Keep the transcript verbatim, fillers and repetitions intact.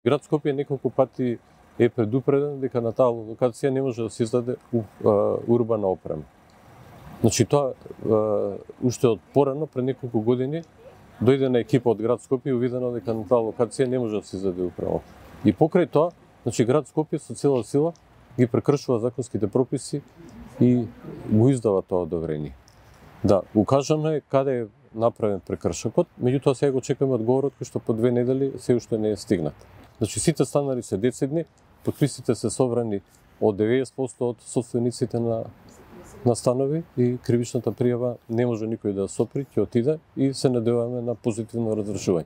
Град Скопје неколку пати е предупреден дека на таа локација не може да се издаде урбана опрема. Значи тоа уште од порано, пред неколку години, дојде на екипа од Град Скопје и увидено дека на таа локација не може да се издаде урбана. И покрај тоа, значи Град Скопје со цела сила ги прекршува законските прописи и го издава тоа одобрение. Да, укажано е каде е направен прекршокот, меѓутоа сега го чекаме одговорот кој што по две недели се уште не е стигнат. Значи сите станари се децидни, подписите се собрани од деветдесет проценти од собствениците на на станови и кривичната пријава не може никој да сопри, ќе отиде и се надеваме на позитивно разрешување.